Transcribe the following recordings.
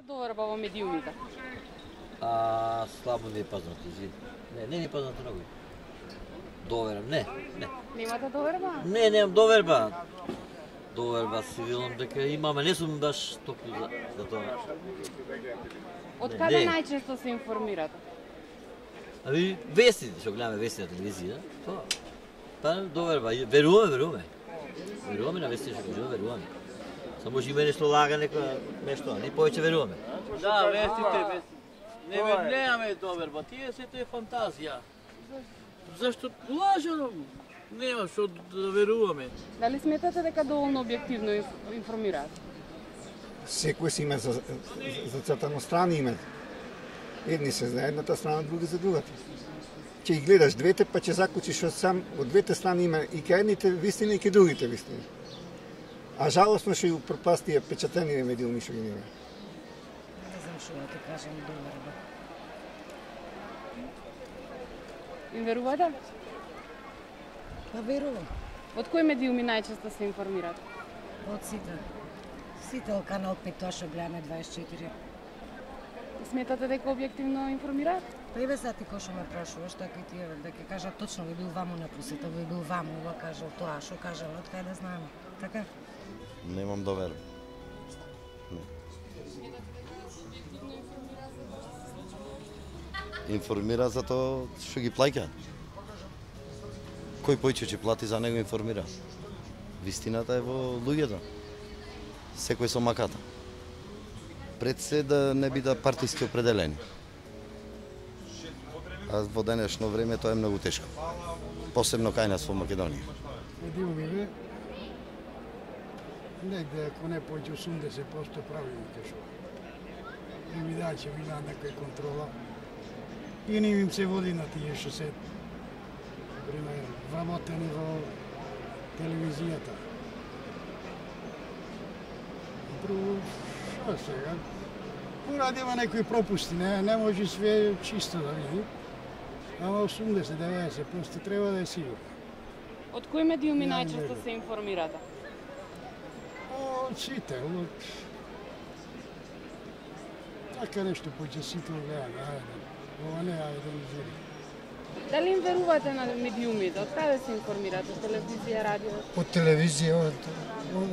Доверба во медиумите? Слабо ми е познато, извини. Не е познато многу. Довербам, не. Немате доверба? Не, немам доверба. Доверба си видам дека имаме, не сум баш толку за тоа. Од каде најчесто се информирате? Вести, што гледаме вести на телевизија, тоа. Па доверба, веруваме. Веруваме на вести што кажуваме, веруваме. Само може има нешто лага, нешто, не повеќе веруваме. Да, вестите. Немаме доверба, тие сето е фантазија. Зашто лажено? Нема што да веруваме. Дали сметате дека доволно објективно информираат? Секој си има зацртано страни има. Едни се за едната страна, други за другата. Ќе ги гледаш двете, па ќе заклучиш што сам од двете страни има и кај едните вистини и кај другите вистини. А жалосно што и пропасти печатени медиуми што ги нема. Не знам што да ти кажам доверба. Им верувате? Па верувам. Од кои медиуми најчесто се информираат? Од сите. Сите од Канал 5, тоа што гледаме 24. Сметате дека објективно информираат? Па и сега ти кој што ме прашуваш, така и ти да ќе кажа точно ви бил ваму на посета, ви бил ваму, ова кажал тоа, што кажал, од кај да знаеме. Така? Немам доверба. Информира за тоа што ги плаќа. Кој појче ќе плати за него информира. Вистината е во луѓето. Секој со маката. Пред се да не биде партиски определени. А во денешно време тоа е многу тешко. Посебно кај нас во Македонија. Медиумите, негде ако не појде 80% правилно кешо. И ми да ќе видат некој контрола. И не им се води на тие што се пример вработени во телевизијата. Друго, што сега? Урадива некои пропусти, не може све чисто да види. Ама 80-90% треба да е сигурно. Од кои медиуми најчесто се информирате? Од сите, од... Така нешто поќе сите гледаме, ајде. Ова не е телевизија. Дали им верувате на медиумите? Од каде се информирате? Од телевизија, радио? Од телевизија,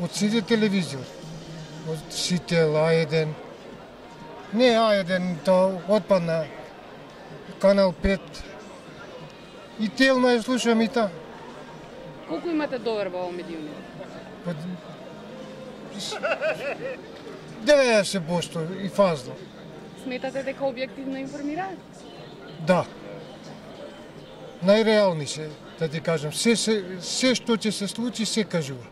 од сите телевизија. Од сите, А1. Не А1, тоа отпадна. Канал 5. И телно ја слушам и та. Колку имате доверба во медиумите? 90% и фазно. Сметате дека објективно информираат? Да. Најреални се, да ти кажам. Се што ќе се случи, се кажува.